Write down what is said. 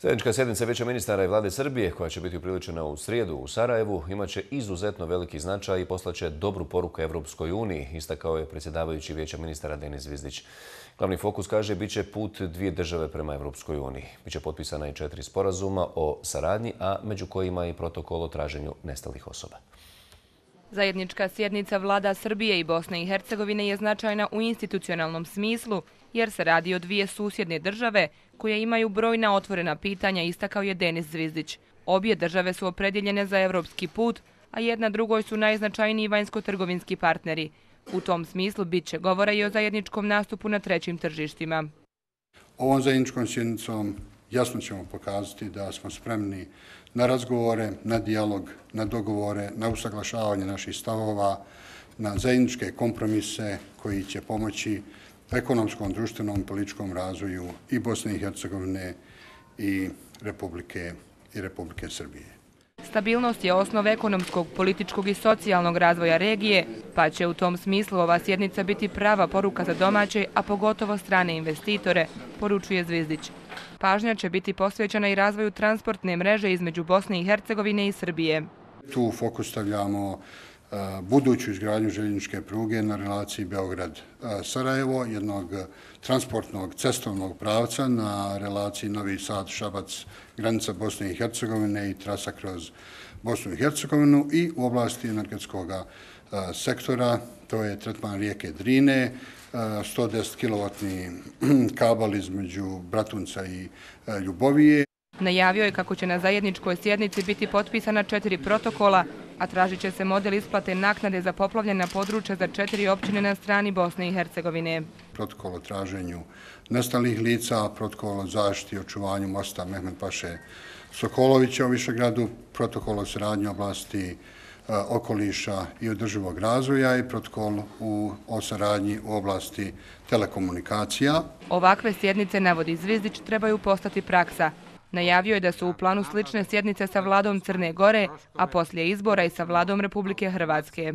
Zajednička sjednica Vijeća ministara i Vlade Srbije, koja će biti upriličena u srijedu u Sarajevu, imaće izuzetno veliki značaj i poslaće dobru poruku Evropskoj uniji, istakao je predsjedavajući Vijeća ministara Denis Zvizdić. Glavni fokus, kaže, bit će put dvije države prema Evropskoj uniji. Biće potpisana i 4 sporazuma o saradnji, a među kojima i protokol o traženju nestalih osoba. Zajednička sjednica vlada Srbije i Bosne i Hercegovine je značajna u institucionalnom smislu, jer se radi o dvije susjedne države koje imaju brojna otvorena pitanja, istakao je Denis Zvizdić. Obje države su opredjeljene za evropski put, a jedna drugoj su najznačajniji vanjsko-trgovinski partneri. U tom smislu bit će govora i o zajedničkom nastupu na trećim tržištima. Ovom zajedničkom sjednicom jasno ćemo pokazati da smo spremni na razgovore, na dijalog, na dogovore, na usaglašavanje naših stavova, na zajedničke kompromise koji će pomoći ekonomskom, društvenom, političkom razvoju i Bosne i Hercegovine i Republike Srbije. Stabilnost je osnov ekonomskog, političkog i socijalnog razvoja regije, pa će u tom smislu ova sjednica biti prava poruka za domaće, a pogotovo strane investitore, poručuje Zvizdić. Pažnja će biti posvećena i razvoju transportne mreže između Bosne i Hercegovine i Srbije. Tu fokus stavljamo buduću izgradnju željezničke pruge na relaciji Beograd-Sarajevo, jednog transportnog cestovnog pravca na relaciji Novi Sad-Šabac, granica Bosne i Hercegovine i trasa kroz Bosnu i Hercegovinu, i u oblasti energetskog sektora, to je tretman rijeke Drine, 110 kilovatni kabel između Bratunca i Ljubovije. Najavio je kako će na zajedničkoj sjednici biti potpisana 4 protokola, a tražit će se model isplate naknade za poplavljena područja za 4 općine na strani Bosne i Hercegovine. Protokol o traženju nestalih lica, protokol o zaštiti i očuvanju mosta Mehmed Paše Sokolovića u Višegradu, protokol o saradnji u oblasti okoliša i održivog razvoja i protokol o saradnji u oblasti telekomunikacija. Ovakve sjednice, navodi Zvizdić, trebaju postati praksa. Najavio je da su u planu slične sjednice sa vladom Crne Gore, a poslije izbora i sa vladom Republike Hrvatske.